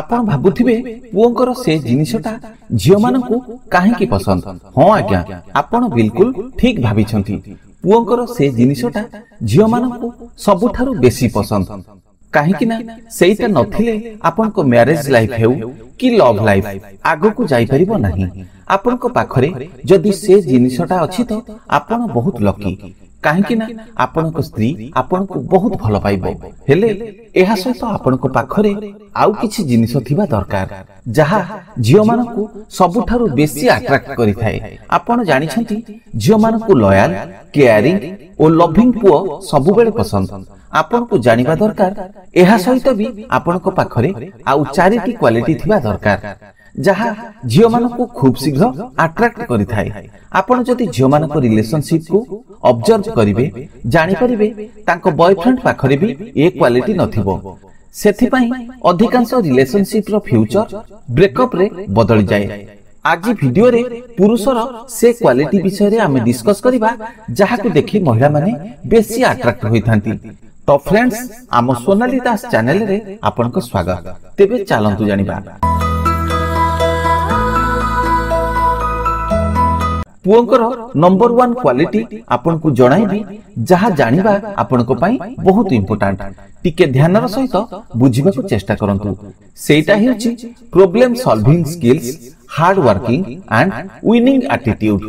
ଆପଣ ଭାବୁଥିବେ ପୁଅଙ୍କର ସେ ଜିନିଷଟା ଝିଅମାନଙ୍କୁ କାହିଁକି ପସନ୍ଦ। ହଁ ଆଜ୍ଞା, ଆପଣ ବିଲକୁଲ ଠିକ ଭାବିଛନ୍ତି। ପୁଅଙ୍କର ସେ ଜିନିଷଟା ଝିଅମାନଙ୍କୁ ସବୁଠାରୁ ବେଶୀ ପସନ୍ଦ, କାହିଁକି ନା ସେଇଟା ନଥିଲେ ଆପଣଙ୍କ ମ୍ୟାରେଜ ଲାଇଫ ହେଉ କି ଲଭ୍ ଲାଇଫ ଆଗକୁ ଯାଇପାରିବ ନାହିଁ। ଆପଣଙ୍କ ପାଖରେ ଯଦି ସେ ଜିନିଷଟା ଅଛି ତ ଆପଣ ବହୁତ ଲକି, କାହିଁକି ନା ଆପଣଙ୍କ ସ୍ତ୍ରୀ ଆପଣଙ୍କୁ ବହୁତ ଭଲ ପାଇବ। ହେଲେ ଏହା ସହିତ ଆପଣଙ୍କ ପାଖରେ ଆଉ କିଛି ଜିନିଷ ଥିବା ଦରକାର, ଯାହା ଝିଅମାନଙ୍କୁ ସବୁଠାରୁ ବେଶୀ ଆଟ୍ରାକ୍ଟ କରିଥାଏ। ଆପଣ ଜାଣିଛନ୍ତି, ଝିଅମାନଙ୍କୁ ଲୟାଲ, କେୟାରିଂ ଓ ଲଭିଂ ପୁଅ ସବୁବେଳେ ପସନ୍ଦ। ଆପଣଙ୍କୁ ଜାଣିବା ଦରକାର, ଏହା ସହିତ ବି ଆପଣଙ୍କ ପାଖରେ ଆଉ 4ଟି କ୍ୱାଲିଟି ଥିବା ଦରକାର, ଯାହା ଝିଅମାନଙ୍କୁ ଖୁବ୍ ଶୀଘ୍ର ଆଟ୍ରାକ୍ଟ କରିଥାଏ। ଆପଣ ଯଦି ଝିଅମାନଙ୍କ ରିଲେସନସିପକୁ ଅବଜର୍ଭ କରିବେ, ଜାଣିପାରିବେ ତାଙ୍କ ବୟଫ୍ରେଣ୍ଡ ପାଖରେ ବି ଏ କ୍ୱାଲିଟି ନଥିବ। ସେଥିପାଇଁ ଅଧିକାଂଶ ରିଲେସନସିପର ଫ୍ୟୁଚର ବ୍ରେକଅପରେ ବଦଳିଯାଏ। ଆଜି ଭିଡିଓରେ ପୁରୁଷର ସେ କ୍ୱାଲିଟି ବିଷୟରେ ଆମେ ଡିସ୍କସ୍ କରିବା, ଯାହାକୁ ଦେଖି ମହିଳାମାନେ ବେଶୀ ଆଟ୍ରାକ୍ଟ ହୋଇଥାନ୍ତି। ତ ଫ୍ରେଣ୍ଡସ୍, ଆମ ସୋନାଲି ଦାସ ଚ୍ୟାନେଲରେ ଆପଣଙ୍କ ସ୍ୱାଗତ। ତେବେ ଚାଲନ୍ତୁ ଜାଣିବା। ପୁଅଙ୍କର ନମ୍ବର 1 କ୍ୱାଲିଟି ଆପଣଙ୍କୁ ଜଣାଇବି, ଯାହା ଜାଣିବା ଆପଣଙ୍କ ପାଇଁ ବହୁତ ଇମ୍ପୋର୍ଟାଣ୍ଟ। ଟିକେ ଧ୍ୟାନର ସହିତ ବୁଝିବାକୁ ଚେଷ୍ଟା କରନ୍ତୁ। ସେଇଟା ହେଉଛି problem solving skills, hard working and winning attitude.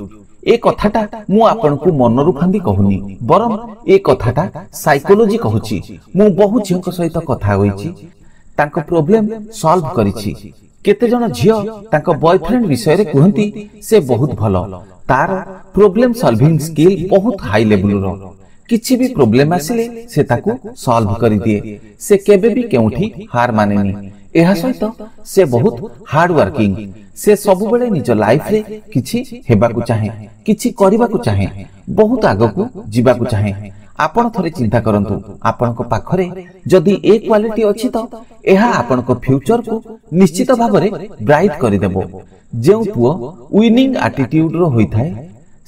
ଏ କଥାଟା ମୁଁ ଆପଣଙ୍କୁ ମନରୁ ଫାନ୍ଦି କହୁନି, ବରଂ ଏ କଥାଟା ସାଇକୋଲୋଜି କହୁଛି। ମୁଁ ବହୁ ଝିଅଙ୍କ ସହିତ କଥା ହୋଇଛି, ତାଙ୍କ ପ୍ରୋବ୍ଲେମ ସଲ୍ଭ କରିଛି। କେତେଜଣ ଝିଅ ତାଙ୍କ ବୟଫ୍ରେଣ୍ଡ ବିଷୟରେ କୁହନ୍ତି, ସେ ବହୁତ ଭଲ, ତାର ପ୍ରୋବ୍ଲେମ ସଲଭିଂ ସ୍କିଲ୍ ବହୁତ ହାଇ ଲେବୁଲର, କିଛି ବି ପ୍ରୋବ୍ଲେମ ଆସିଲେ ସେ ତାକୁ ସଲ୍ଭ କରିଦିଏ, ସେ କେବେ ବି କେଉଁଠି ହାର ମାନେନି। ଏହା ସହିତ ସେ ବହୁତ ହାର୍ଡ ୱାର୍କିଂ, ସେ ସବୁବେଳେ ନିଜ ଲାଇଫରେ କିଛି ହେବାକୁ ଚାହେଁ, କିଛି କରିବାକୁ ଚାହେଁ, ବହୁତ ଆଗକୁ ଯିବାକୁ ଚାହେଁ। ଆପଣ ଥରେ ଚିନ୍ତା କରନ୍ତୁ, ଆପଣଙ୍କ ପାଖରେ ଯଦି ଏ କ୍ୱାଲିଟି ଅଛି ତ ଏହା ଆପଣଙ୍କ ଫ୍ୟୁଚରକୁ ନିଶ୍ଚିତ ଭାବରେ ବ୍ରାଇଟ୍ କରିଦେବ। ଯେଉଁ ପୁଅ ୱିନିଂ ଆଟିଟ୍ୟୁଡର ହୋଇଥାଏ,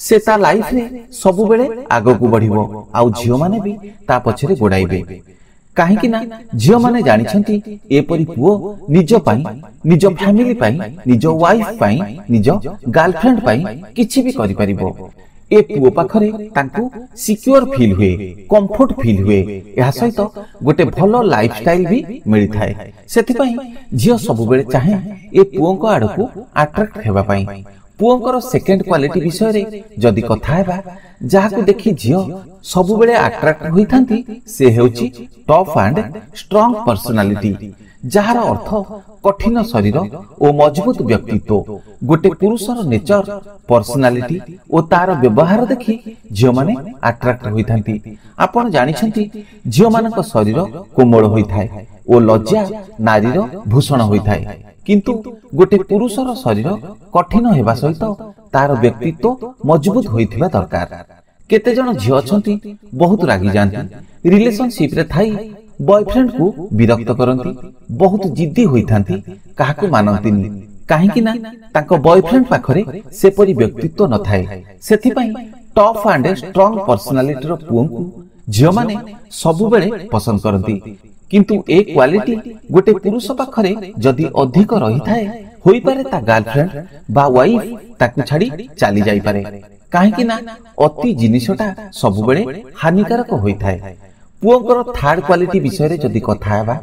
ସେ ତା ଲାଇଫରେ ସବୁବେଳେ ଆଗକୁ ବଢିବ, ଆଉ ଝିଅମାନେ ବି ତା ପଛରେ ଗୋଡାଇବେ, କାହିଁକି ନା ଝିଅମାନେ ଜାଣିଛନ୍ତି ଏପରି ପୁଅ ନିଜ ପାଇଁ, ନିଜ ଫ୍ୟାମିଲି ପାଇଁ, ନିଜ ୱାଇଫ ପାଇଁ, ନିଜ ଗାର୍ଲଫ୍ରେଣ୍ଡ ପାଇଁ କିଛି ବି କରିପାରିବ। ଏ ପୁଅ ପାଖରେ ତାଙ୍କୁ ସିକ୍ୟୁର ଫିଲ୍ ହୁଏ, କମ୍ଫର୍ଟ ଫିଲ୍ ହୁଏ, ଏହା ସହିତ ଗୋଟେ ଭଲ ଲାଇଫଷ୍ଟାଇଲ ବି ମିଳିଥାଏ। ସେଥିପାଇଁ ଝିଅ ସବୁବେଳେ ଚାହେଁ ଏ ପୁଅଙ୍କ ଆଡ଼କୁ ଆଟ୍ରାକ୍ଟ ହେବା ପାଇଁ। ପୁଅଙ୍କର ସେକେଣ୍ଡ କ୍ୱାଲିଟି ବିଷୟରେ ଯଦି କଥା ହେବା, ଯାହାକୁ ଦେଖି ଝିଅ ସବୁବେଳେ ଆଟ୍ରାକ୍ଟ ହୋଇଥାନ୍ତି, ସେ ହେଉଛି ଟଫ୍ ଆଣ୍ଡ ଷ୍ଟ୍ରଙ୍ଗ ପର୍ସନାଲିଟି, ଯାହାର ଅର୍ଥ କଠିନ ଶରୀର ଓ ମଜବୁତ ବ୍ୟକ୍ତିତ୍ୱ। ଗୋଟେ ପୁରୁଷର ନେଚର, ପର୍ସନାଲିଟି ଓ ତାର ବ୍ୟବହାର ଦେଖି ଝିଅମାନେ ଆଟ୍ରାକ୍ଟ ହୋଇଥାନ୍ତି। ଆପଣ ଜାଣିଛନ୍ତି, ଝିଅମାନଙ୍କ ଶରୀର କୋମଳ ହୋଇଥାଏ ଓ ଲଜ୍ଜା ନାରୀର ଭୂଷଣ ହୋଇଥାଏ। କିନ୍ତୁ ଗୋଟେ ପୁରୁଷର ଶରୀର କଠିନ ହେବା ସହିତ ତାର ବ୍ୟକ୍ତିତ୍ୱ ମଜବୁତ ହୋଇଥିବା ଦରକାର। କେତେଜଣ ଝିଅ ଅଛନ୍ତି ବହୁତ ରାଗିଯାଆନ୍ତି, ରିଲେସନସିପରେ ଥାଇ ବୟଫ୍ରେଣ୍ଡକୁ ବିରକ୍ତ କରନ୍ତି, ବହୁତ ଜିଦ୍ଦି ହୋଇଥାନ୍ତି, କାହାକୁ ମାନନ୍ତିନି, କାହିଁକି ନା ତାଙ୍କ ବୟଫ୍ରେଣ୍ଡ ପାଖରେ ସେପରି ବ୍ୟକ୍ତିତ୍ୱ ନଥାଏ। ସେଥିପାଇଁ ଟଫ୍ ଆଣ୍ଡ ଷ୍ଟ୍ରଙ୍ଗ ପର୍ସନାଲିଟିର ପୁଅଙ୍କୁ ଝିଅମାନେ ସବୁବେଳେ ପସନ୍ଦ କରନ୍ତି। କିନ୍ତୁ ଏ କ୍ୱାଲିଟି ଗୋଟେ ପୁରୁଷ ପାଖରେ ଯଦି ଅଧିକ ରହିଥାଏ, ହୋଇପାରେ ତା ଗାର୍ଲଫ୍ରେଣ୍ଡ ବା ୱାଇଫ ତାକୁ ଛାଡି ଚାଲି ଯାଇପାରେ, କାହିଁକି ନା ଅତି ଜିନିଷଟା ସବୁବେଳେ ହାନିକାରକ ହୋଇଥାଏ। ପୁଅଙ୍କର ଥାର୍ଡ କ୍ୱାଲିଟି ବିଷୟରେ ଯଦି କଥା ହେବା,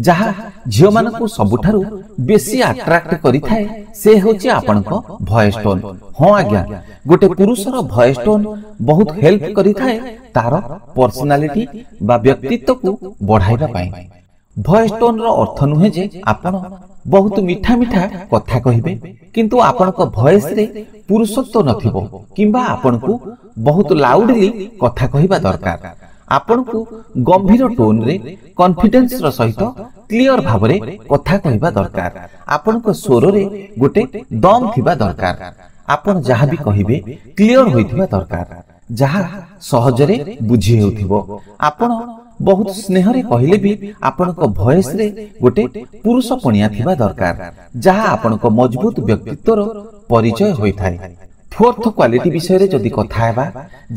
ଯାହା ଝିଅମାନଙ୍କୁ ସବୁଠାରୁ ବେଶୀ ଆଟ୍ରାକ୍ଟ କରିଥାଏ, ସେ ହେଉଛି ଆପଣଙ୍କ ଭଏସ ଟୋନ୍। ହଁ ଆଜ୍ଞା, ଗୋଟେ ପୁରୁଷର ଭଏସ ଟୋନ୍ ବହୁତ ହେଲ୍ପ କରିଥାଏ ତାର ପର୍ସନାଲିଟି ବା ବ୍ୟକ୍ତିତ୍ୱକୁ ବଢାଇବା ପାଇଁ। ଭଏସ ଟୋନ୍ର ଅର୍ଥ ନୁହେଁ ଯେ ଆପଣ ବହୁତ ମିଠା ମିଠା କଥା କହିବେ, କିନ୍ତୁ ଆପଣଙ୍କ ଭଏସରେ ପୁରୁଷତ୍ୱ ନଥିବ, କିମ୍ବା ଆପଣଙ୍କୁ ବହୁତ ଲାଉଡଲି କଥା କହିବା ଦରକାର। ଆପଣଙ୍କୁ ଗମ୍ଭୀର ଟୋନ୍ରେ କନଫିଡେନ୍ସର ସହିତ କ୍ଲିଅର ଭାବରେ କଥା କହିବା ଦରକାର। ଆପଣଙ୍କ ସ୍ୱରରେ ଗୋଟେ ଦମ୍ ଥିବା ଦରକାର। ଆପଣ ଯାହା ବି କହିବେ କ୍ଲିଅର ହୋଇଥିବା ଦରକାର, ଯାହା ସହଜରେ ବୁଝି ହେଉଥିବ। ଆପଣ ବହୁତ ସ୍ନେହରେ କହିଲେ ବି ଆପଣଙ୍କ ଭଏସରେ ଗୋଟେ ପୁରୁଷ ପଣିଆ ଥିବା ଦରକାର, ଯାହା ଆପଣଙ୍କ ମଜବୁତ ବ୍ୟକ୍ତିତ୍ୱର ପରିଚୟ ହୋଇଥାଏ। ଫୋର୍ଥ କ୍ୱାଲିଟି ବିଷୟରେ ଯଦି କଥା ହେବା,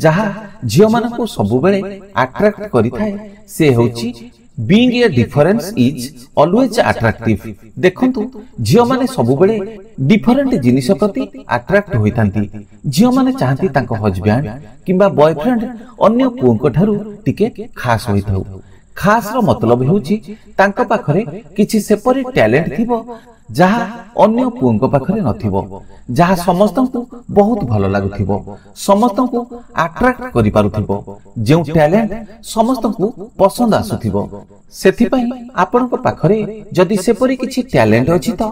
ଯାହା ଝିଅମାନଙ୍କୁ ସବୁବେଳେ ଆଟ୍ରାକ୍ଟ କରିଥାଏ, ସେ ହେଉଛି Being a difference is always attractive. ଦେଖନ୍ତୁ, ଝିଅମାନେ ସବୁବେଳେ ଡିଫରେଣ୍ଟ ଜିନିଷ ପ୍ରତି ଆଟ୍ରାକ୍ଟ ହୋଇଥାନ୍ତି। ଝିଅମାନେ ଚାହାନ୍ତି ତାଙ୍କ ହଜବ୍ୟାଣ୍ଡ କିମ୍ବା ବୟଫ୍ରେଣ୍ଡ ଅନ୍ୟ ପୁଅଙ୍କ ଠାରୁ ଟିକେ ଖାସ ହୋଇଥାଉ। ଖାସର ମତଲବ ହେଉଛି ତାଙ୍କ ପାଖରେ କିଛି ସେପରି ଟ୍ୟାଲେଣ୍ଟ ଥିବ ଯାହା ଅନ୍ୟ ପୁଅଙ୍କ ପାଖରେ ନଥିବ, ଯାହା ସମସ୍ତଙ୍କୁ ବହୁତ ଭଲ ଲାଗୁଥିବ, ସମସ୍ତଙ୍କୁ ଆଟ୍ରାକ୍ଟ କରିପାରୁଥିବ, ଯେଉଁ ଟ୍ୟାଲେଣ୍ଟ ସମସ୍ତଙ୍କୁ ପସନ୍ଦ ଆସୁଥିବ। ସେଥିପାଇଁ ଆପଣଙ୍କ ପାଖରେ ଯଦି ସେପରି କିଛି ଟ୍ୟାଲେଣ୍ଟ ଅଛି ତ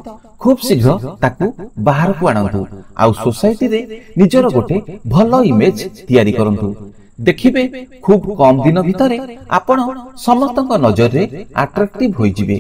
ଖୁବ୍ ଶୀଘ୍ର ତାକୁ ବାହାରକୁ ଆଣନ୍ତୁ ଆଉ ସୋସାଇଟିରେ ନିଜର ଗୋଟେ ଭଲ ଇମେଜ ତିଆରି କରନ୍ତୁ। ଦେଖିବେ, ଖୁବ୍ କମ ଦିନ ଭିତରେ ଆପଣ ସମସ୍ତଙ୍କ ନଜରରେ ଆଟ୍ରାକ୍ଟିଭ ହୋଇଯିବେ।